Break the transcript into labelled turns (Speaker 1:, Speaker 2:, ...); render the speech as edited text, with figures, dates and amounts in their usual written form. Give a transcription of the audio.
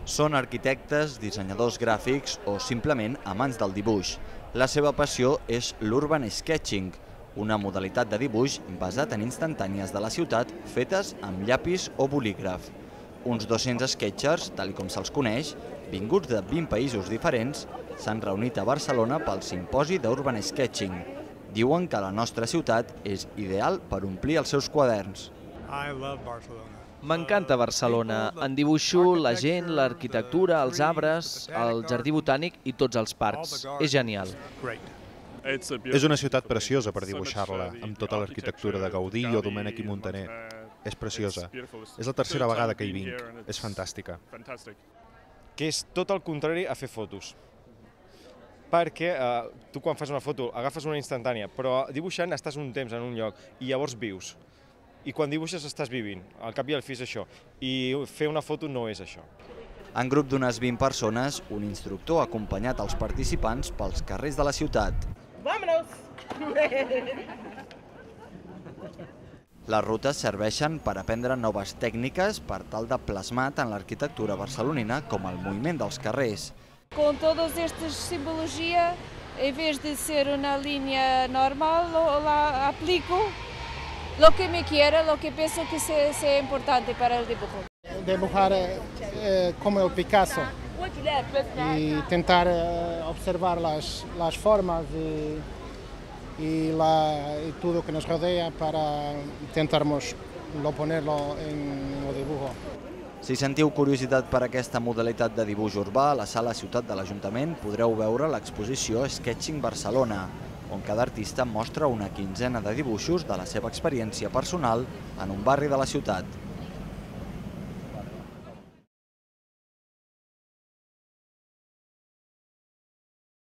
Speaker 1: Són arquitectes, dissenyadors gràfics o simplement amants del dibuix. La seva passió és l'urban sketching, una modalitat de dibuix basat en instantànies de la ciutat fetes amb llapis o bolígraf. Uns 200 sketchers, tal com se'ls coneix, vinguts de 20 països diferents, s'han reunit a Barcelona pel simposi d'Urban Sketching. Diuen que la nostra ciutat és ideal per omplir els seus quaderns.
Speaker 2: M'encanta Barcelona. En dibuixo la gent, l'arquitectura, els arbres, el jardí botànic i tots els parcs. És genial.
Speaker 3: És una ciutat preciosa per dibuixar-la, amb tota l'arquitectura de Gaudí o Domènech i Montaner. És preciosa. És la tercera vegada que hi vinc. És fantàstica.
Speaker 4: Que és tot el contrari a fer fotos. Perquè tu quan fas una foto agafes una instantània, però dibuixant estàs un temps en un lloc i llavors vius. I quan dibuixes estàs vivint, al cap i al fi és això. I fer una foto no és això.
Speaker 1: En grup d'unes 20 persones, un instructor ha acompanyat els participants pels carrers de la ciutat.
Speaker 5: ¡Vámonos!
Speaker 1: Les rutes serveixen per aprendre noves tècniques per tal de plasmar tant l'arquitectura barcelonina com el moviment dels carrers.
Speaker 6: Com todas estas simbologias, en vez de ser una línea normal, la aplico lo que me quiera, lo que pienso que sea importante para el dibujo.
Speaker 7: Dibujar como el Picasso y tentar observar las formas y todo que nos rodea para intentarmos ponerlo en el dibujo.
Speaker 1: Si sentiu curiositat per aquesta modalitat de dibuix urbà, a la Sala Ciutat de l'Ajuntament podreu veure l'exposició Sketching Barcelona, on cada artista mostra una quinzena de dibuixos de la seva experiència personal en un barri de la ciutat.